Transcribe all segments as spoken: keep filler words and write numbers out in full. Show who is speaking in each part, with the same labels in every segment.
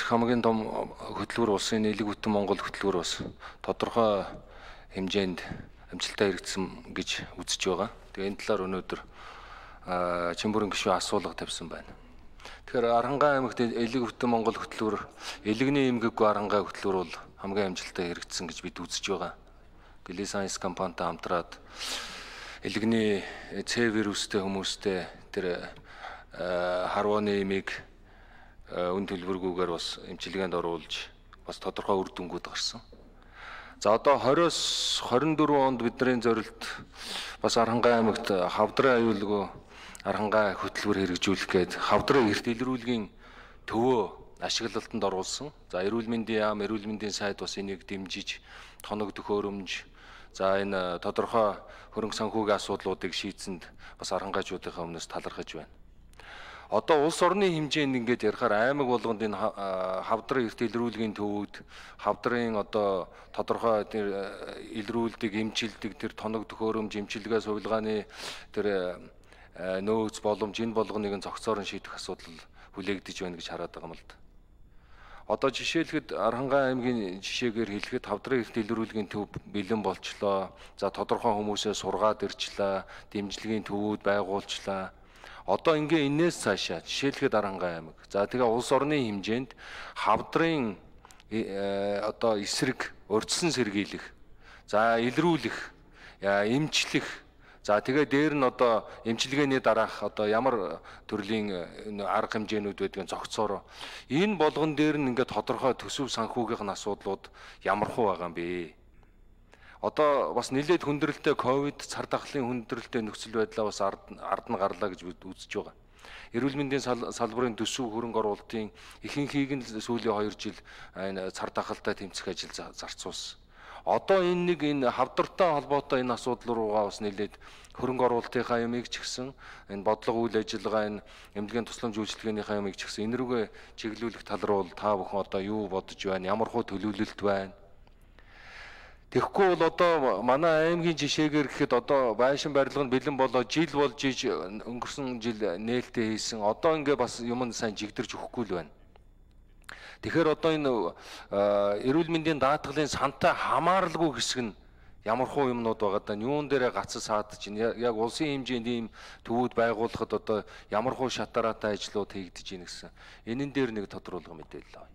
Speaker 1: хамгийн том хөтөлбөр улсын нийлэг бүтэн Монгол хөтөлбөр бас тодорхой хэмжээнд амжилтаа хэрэгжсэн гэж үзэж байгаа. Тэгээ энэ талаар өнөөдөр Чимбүрэн гишүүн асуулга тавьсан байна. Тэгэхээр Аранхай аймагт элэг бүтэн Монгол хөтөлбөр, элэгний эмгэггүй Аранхай хөтөлбөр бол хамгийн амжилтаа хэрэгжсэн гэж бид үзэж байгаа. Гэлээ Сайенс компанитай хамтраад элэгний С вирустэй хүмүүстэй тэр харваны эмийг үн төлбөргүйгээр бас эмчилгээнд оруулж бас тодорхой үр дүнгууд гарсан. За одоо двадцать двадцать дөрвөн онд бидний зорилт бас Аранхай аймагт хавдрын аюулгүй Аранхай хөтөлбөр хэрэгжүүлэх гээд хавдрын эрт илрүүлгийн төвөө ашиглалтанд оруулсан. За эрүүл мэндийн яам, эрүүл мэндийн сайд бас энийг дэмжиж тоног төхөөрөмж, за энэ тодорхой хөрөнгө санхүүгийн асуудлуудыг шийдсэнд бас аранхайчуудынхаа өмнөөс талархаж байна. Одоо улс орны хэмжээнд ингээд ярихаар аймаг болгонд энэ хавдрын эрт илрүүлгийн төвүүд, хавдрын одоо тодорхой тэр илрүүлдэг, эмчилдэг тэр тоног төхөөрөмж, эмчилгээ сувилгааны тэр нөөц боломж энэ болгоныг нь зохицоор нь шийдэх асуудал хүлээгдэж байна гэж хараад байгаа юм л да. Одоо жишээлхэд Аранхай аймгийн жишээгээр хэлэхэд хавдрын эрт илрүүлгийн төв бэлэн болчлоо. За тодорхой хүмүүсээ сургаад ирчлээ, дэмжлэгийн төвүүд байгуулчлаа. Одоо ингээ энэс цаашаа жишээлхэд Аранхай аймаг. За тэгээ улс орны хэмжээнд хавдрын одоо эсрэг урьдчилан сэргийлэх, за илрүүлэх, эмчлэх, за тэгээ дээр нь одоо эмчилгээний дараах одоо ямар төрлийн арга хэмжээнүүд байдгийг зохицоор энэ болгон дээр нь ингээ тодорхой төсөв санхүүгийнх нь асуудлууд ямар хуу байгаа юм бэ? Одоо бас нэлээд хүндрэлтэй ковид цар тахлын хүндрэлтэй нөхцөл байдлаа бас ард нь гарлаа гэж бид үзэж байгаа. Эрүүл мэндийн салбарын төсөв хөрөнгө оруулалтын ихэнхийг нь сүүлийн хоёр жил энэ цар тахалтай тэмцэх ажил зарцуулсан. Одоо энэ нэг энэ хавдартай холбоотой энэ асуудал руугаа бас нэлээд хөрөнгө оруулалтынхаа ямыг ч гэсэн энэ бодлого үйл ажиллагаа энэ эмнэлгийн тусламж үйлчилгээнийхаа ямыг ч гэсэн энэ рүүгээ чиглүүлэх тал руу та бүхэн одоо юу бодож байна? Ямар хөө төлөвлөлт байна? Тэгэхгүй бол одоо манай аймгийн жишээгээр гэхэд одоо байшин барилга нь бэлэн болоо жил болж иж өнгөрсөн жил нээлттэй хийсэн. Одоо ингээ бас юм сайн жигдэрч өгөхгүй л байна. Тэгэхээр одоо энэ эрүүл мэндийн даатгалын сантай хамааралгүй хэсэг нь ямар хуу юмнууд байгаа даа юун дээрээ гацсан саад чинь яг улсын хэмжээнд ийм төвүүд байгуулахад одоо ямар хуу шатараатай ажлууд хийгдэж ийн гэсэн. Энэн дээр нэг тодруулга мэдээлэл авъя.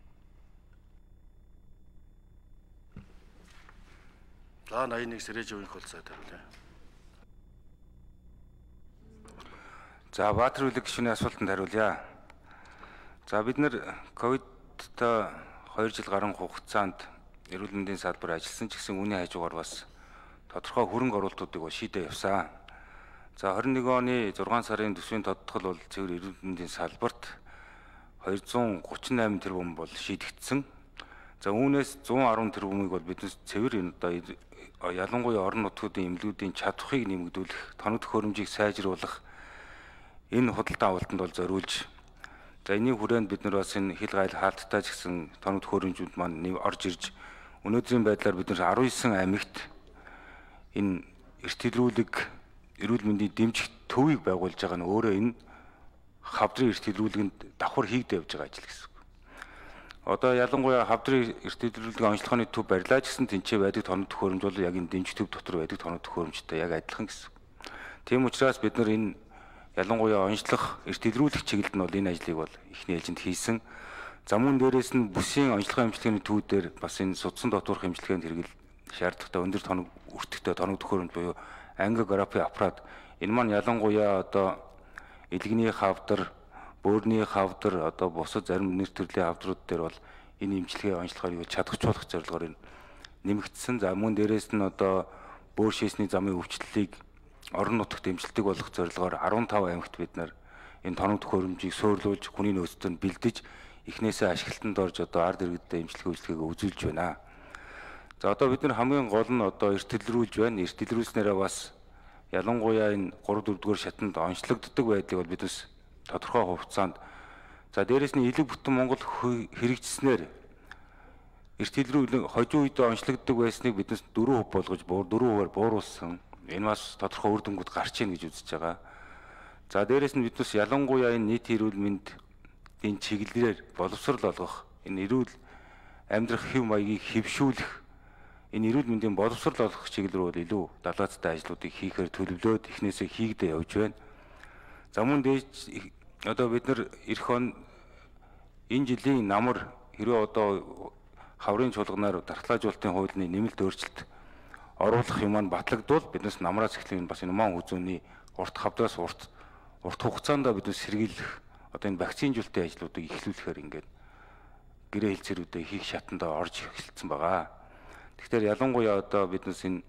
Speaker 2: За восемьдесят один Сэрээжийн хөл цай тавилаа.
Speaker 3: За Баатар үлэг гишүүний асуултанд хариулъя. За бид нэр ковидтой хоёр жил гарсан хугацаанд эрүүл мэндийн салбар ажилласан ч гэсэн үүний хажуугаар бас тодорхой хөрөнгө оруулалтуудыг шийдээ явсан. За двадцать нэгэн оны зургаан сарын төсвийн тодтгол бол цэвэр эрүүл мэндийн салбарт двести гуравч восемь тэрбум бол шийдэгдсэн. За үүнээс one ten тэрбумыг бол биднес цэвэр энэ одоо ялангуяа орон нутгуудын эмнэлгүүдийн чадварыг нэмэгдүүлэх, тоног төхөөрөмжийг сайжруулах энэ худалдаа авалтанд бол зориулж, за энэний хүрээнд бид нар бас энэ хил гайл хаалттай ч гэсэн тоног төхөөрөмжүүд маань орж ирж өнөөдрийн байдлаар бид нар nineteen аймагт энэ эрт илрүүлэг эрүүл мэндийн дэмжих төвийг байгуулж байгаа нь өөрөө энэ хавдрын эрт илрүүлгэнд давхар хийгдэж явж байгаа ажил гэсэн. Одоо ялангуяа хавдрын эрт илрүүлгийн онцлогооны төв барилаа ч гэсэн тэнцээ байдаг тоног төхөөрөмж бол яг энэ дэмжих төв дотор байдаг тоног төхөөрөмжтэй яг адилхан гэсэн. Тийм учраас бид нар энэ ялангуяа онцлох эрт илрүүлэх чиглэлд нь бол энэ ажлыг бол эхний ээлжинд хийсэн. За мөн дээрээс нь бүсийн онцлогын эмчилгээний төвүүдээр бас энэ судсан дотоорох эмчилгээнд хэрэгэл шаардлагатай өндөр тоног өртөгтэй тоног төхөөрөмж буюу ангиографи аппарат энэ маань ялангуяа одоо элэгний хавдар, бөөрийн хавдар, одоо бусад зарим нэр төрлийн хавдрууд дээр бол энэ эмчилгээ онцлогыг чадахжуулах зорилгоор нэмэгдсэн. За мөн дээрээс нь одоо бөөр шээсний замын өвчлөлийг орон нутагт эмчилдэг болох зорилгоор fifteen аймагт бид нар энэ тоног төхөөрөмжийг суйрлуулж хүний нөөцөд нь бэлдэж эхнээсээ ашиглалтанд орж одоо ард иргэдэд эмчилгээ үйлчлэгийг үзүүлж байна. За одоо бид нар хамгийн гол нь одоо эрт илрүүлж байна. Эрт илрүүлснээрээ бас ялангуяа энэ three four дугаар шатанд онцлогддог байдлыг бол биднес тодорхой хугацаанд за дээрэс нь элэг бүтэн Монгол хэрэгжснээр эрт илрүүлэг хожуу үед онцлогддог байсныг биднес four хувь болгож four хувиар бууруулсан. Энэ бас тодорхой үр дүнгууд гарч ийн гэж үзэж байгаа. За дээрэс нь биднес ялангуяа энэ нийт эрүүл мэндийн чиглэлээр боловсрол олгох энэ эрүүл амьдрах хэв маягийг хэвшүүлэх, энэ эрүүл мэндийн боловсрол олох чиглэл рүү илүү далайцтай ажлуудыг хийхээр төлөвлөөд эхнээсээ хийгдэ явж байна. За мөн дээж одоо бид нар эх он энэ жилийн намар хэрвээ одоо хаврын чуулганаар дархлаажуулалтын хуулины нэмэлт өөрчлөлт оруулах юм маань батлагдвал биднес намраас эхлэх бас энэ маань үзүүний урт хавдаас урт урт хугацаанд биднес сэргийлэх одоо энэ вакцинжуулалтын ажлуудыг эхлүүлэхээр ингээд гэрээ хэлцээрүүдээ хийх шатанд орж эхэлсэн байгаа. Тэгэхээр ялангуяа одоо биднес энэ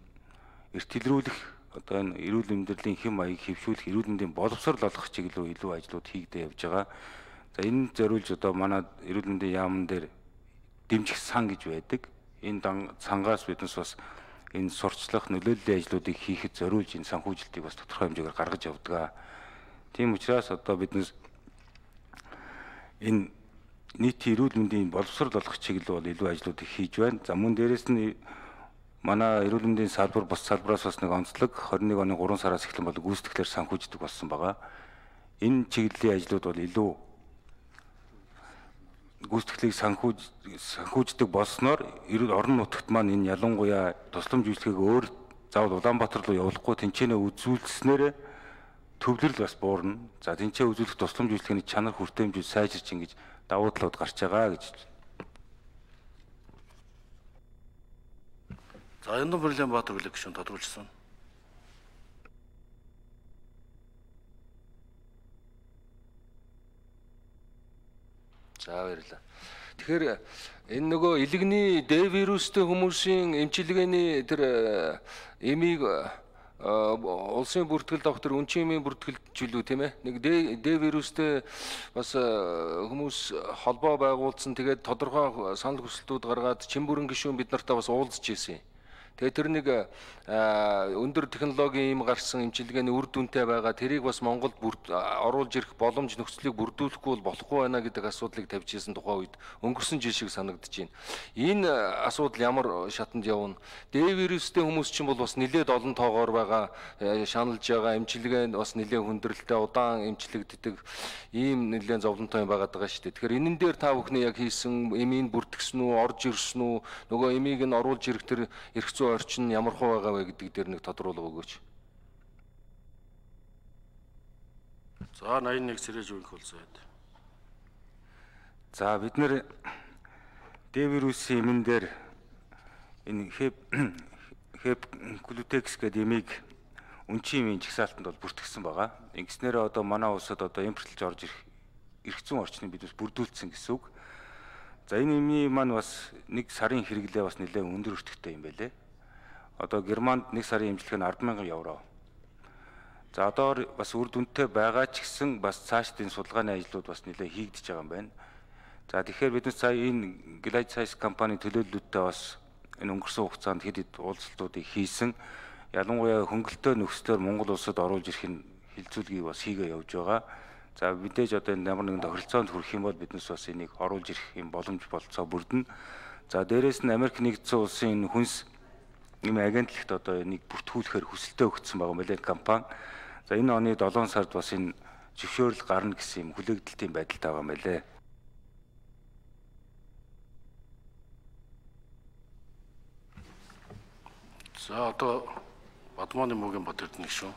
Speaker 3: эртэлрүүлэх одоо энэ эрүүл амьдралын хэм маягийг хэвшүүлэх, эрүүл мэндийн боловсрол олох чиглэл рүү илүү ажлууд хийгдэ явж байгаа. За энэ зориулж одоо манай эрүүл мэндийн яамн дээр дэмжих сан гэж байдаг. Энэ цангаас биднес бас энэ сурчлах, нөлөөллийн ажлуудыг хийхэд зориулж энэ санхүүжилтийг бас тодорхой хэмжээгээр гаргаж явдаг. Тийм учраас одоо биднес энэ нийтийн эрүүл мэндийн боловсрол олох чиглэл бол илүү ажлуудыг хийж байна. За мөн дээрэс нь манай эрүүл мэндийн салбар бус салбараас бас нэг онцлог двадцать нэг оны гурван сараас эхлэн бол гүйцэтгэлээр санхүүждэг болсон байгаа. Энэ чиглэлийн ажлууд бол илүү гүйцэтгэлийг санхүүж санхүүждэг болсноор эрүүл орон нутагт маань энэ ялангуяа тусламж үйлчлэгийг өөр заавал Улаанбаатар руу явуулахгүй тэнцэнэ үзүүлснээр төвлөрөл бас буурна. За тэнцээ үзүүлэх тусламж үйлчлэгийн чанар хүртээмжүүд сайжирч ингэж давуу талууд гарч байгаа гэж.
Speaker 2: За Яндан Бэрлэм Баатар хүлээх гишүүн тодруулсан.
Speaker 1: За баярлалаа. Тэгэхээр энэ нөгөө илэгний Д вирустэй хүмүүсийн эмчилгээний тэр эмийг улсын бүртгэлд авах тэр үнчин эмийн бүртгэлжүүлүү тийм ээ. Нэг Д вирустэй бас хүмүүс холбоо байгуулсан. Тэгээд тодорхой санал хүсэлтүүд гаргаад Чимбүрэн гишүүн бид нартай бас уулзж ирсэн. Тэгээд тэр нэг өндөр технологийн юм гарсан эмчилгээний үр дүнтэй байгаа. Тэрийг бас Монголд оруулж ирэх боломж нөхцөлийг бүрдүүлэхгүй бол болохгүй байна гэдэг асуудлыг тавьж ирсэн тухай үед өнгөрсөн жил шиг санагдаж байна. Энэ асуудал ямар шатанд явна? Д вирустэй хүмүүс чинь бол бас нэлээд олон тоогоор байгаа, шаналж байгаа, эмчилгээ бас нэлээд хүндрэлтэй, удаан эмчлэгддэг ийм нэлээд зовлонтой юм байгаад байгаа шүү дээ. Тэгэхээр энэн дээр та бүхний яг хийсэн эмийн бүртгэсэн үү, орж ирсэн үү, нөгөө эмийг нь оруулж ирэх тэр эрх орчин ямар хөө байгаа вэ гэдэг дээр нэг тодруулга өгөөч.
Speaker 2: За восемьдесят один Сэрэж үеийнх бол зайд.
Speaker 3: За бид нэр Д вирусын эмэн дээр энэ хэп хэп глютекс гэдэг эмийг үнчин эмийн жагсаалтанд бол бүртгэсэн байгаа. Ингэснээр одоо манай улсад одоо импортлж орж ирэх эрх зүйн орчныг биднес бүрдүүлсэн гэсэн үг. За энэ эмийн маань бас нэг сарын хэрэглээ бас нэлээд өндөр өртөгтэй юм байлээ. Одоо Германд нэг сарын эмчилгээ нь арван мянган евро. За одоо бас үр дүнтэй байгаа ч гэсэн бас цаашдын судалгааны ажлууд бас нэлээд хийгдэж байгаа юм байна. За тэгэхээр бид сая энэ Glide Science компани төлөөллөлтөд бас энэ өнгөрсөн хугацаанд хэд хэд уулзалтуудыг хийсэн. Ялангуяа хөнгөлөлтөө нөхцлөөр Монгол улсад оруулж ирэх нь хилцүүлгийг бас хийгээ явж байгаа. За мэдээж одоо энэ ямар нэгэн тохиролцоонд хүрэх юм бол биднес бас энийг оруулж ирэх юм боломж болцоо бүрдэнэ. За дээрэс нь Америк нэгдсэн улсын энэ хүнс ийм агентлагт одоо энийг бүртгүүлэхээр хүсэлтээ өгсөн байгаа мөлий компани. За энэ оны долоон сард бас энэ зөвшөөрөл гарна гэсэн юм хүлээгдэлтийн байдалтай байгаа мөлий.
Speaker 2: За одоо Бадмааны мөгийн Бат Эрдэнэ гишүүн.